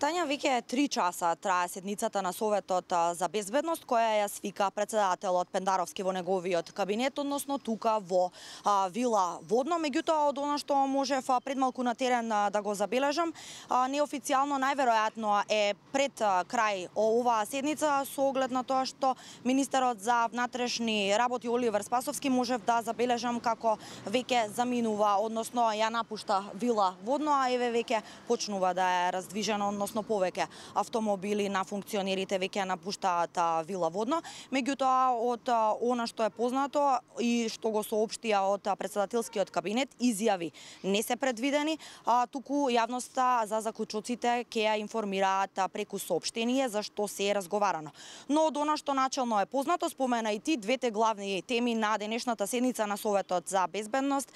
Тања, веќе 3 часа трае седницата на Советот за безбедност, која ја свика председателот Пендаровски во неговиот кабинет, односно тука во Вила Водно. Меѓутоа, од она што можев пред малку на терен да го забележам, неофицијално најверојатно е пред крај оваа седница, со оглед на тоа што министерот за внатрешни работи Оливер Спасовски можев да забележам како веќе заминува, односно ја напушта Вила Водно, а еве веќе почнува да е раздвижено, односно повеќе автомобили на функционерите веќе напуштаат Вила Водно. Меѓутоа, од она што е познато и што го соопштија од председателскиот кабинет, изјави не се предвидени, туку јавноста за заклучоците ќе ја информираат преку соопштение за што се е разговарано. Но од она што начелно е познато, спомена и ти, двете главни теми на денешната седница на Советот за безбедност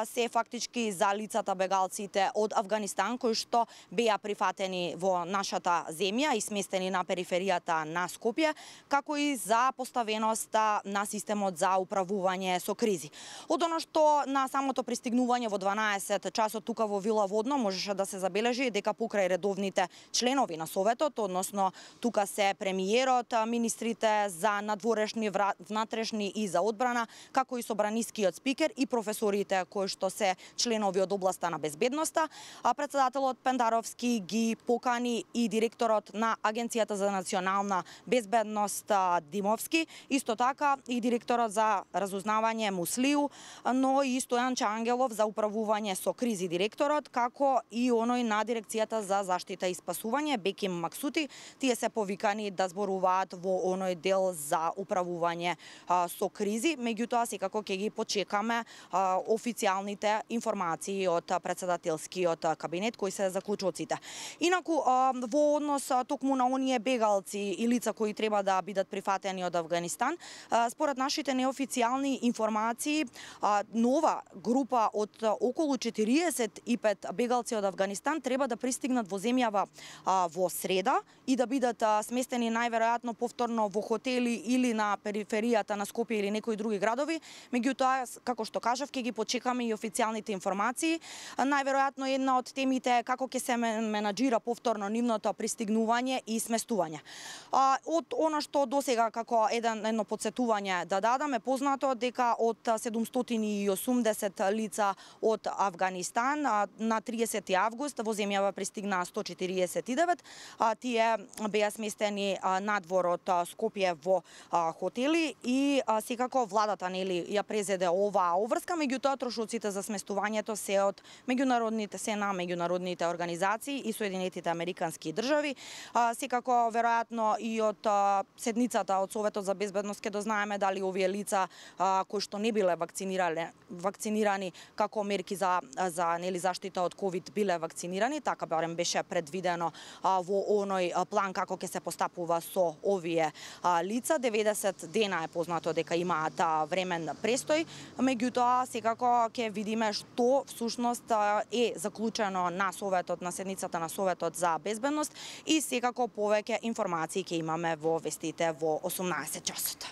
се фактички за лицата бегалците од Авганистан, кои што беа прифатени во нашата земја и сместени на периферијата на Скопје, како и за поставеноста на системот за управување со кризи. Од она што на самото пристигнување во 12 часот тука во Вила Водно можеше да се забележи дека покрај редовните членови на Советот, односно тука се премиерот, министрите за надворешни, внатрешни и за одбрана, како и собранискиот спикер и професорите кои што се членови од областа на безбедноста, председателот Пендаровски ги покани и директорот на Агенцијата за национална безбедност Димовски, исто така и директорот за разузнавање Муслију, но и Стојанче Ангелов за управување со кризи директорот, како и оној на Дирекцијата за заштита и спасување Беким Максути. Тие се повикани да зборуваат во оној дел за управување со кризи, меѓутоа секако ќе ги почекаме официјалните информации од председателскиот кабинет кои се заклучоците. Инаку во однос токму на оние бегалци и лица кои треба да бидат прифатени од Авганистан, според нашите неофицијални информации, нова група од околу 45 бегалци од Авганистан треба да пристигнат во земјава во среда и да бидат сместени најверојатно повторно во хотели или на периферијата на Скопје или некои други градови. Меѓутоа, како што кажав, ќе ги почекаме и официјалните информации. Најверојатно една од темите е како ќе се менаџира повторно нивното пристигнување и сместување. Од она што досега како едно подсетување да дадаме, познато дека од 780 лица од Авганистан на 30 август во земјава пристигнаа 149, тие беа сместени надвор од Скопје во хотели и секако владата ја презеде оваа обврска, меѓутоа трошоците за сместувањето се од меѓународните организации и Соединетите Американски држави. Секако, веројатно и од седницата од Советот за безбедност ќе дознаеме дали овие лица кои што не биле вакцинирани како мерки за заштита од ковид биле вакцинирани, така барем беше предвидено во оној план како ќе се постапува со овие лица. 90 дена е познато дека имаат времен престој, меѓутоа секако ќе видиме што всушност е заклучено на Советот, на седницата на Советот за безбедност и секако повеќе информации ќе имаме во вестите во 18 часот.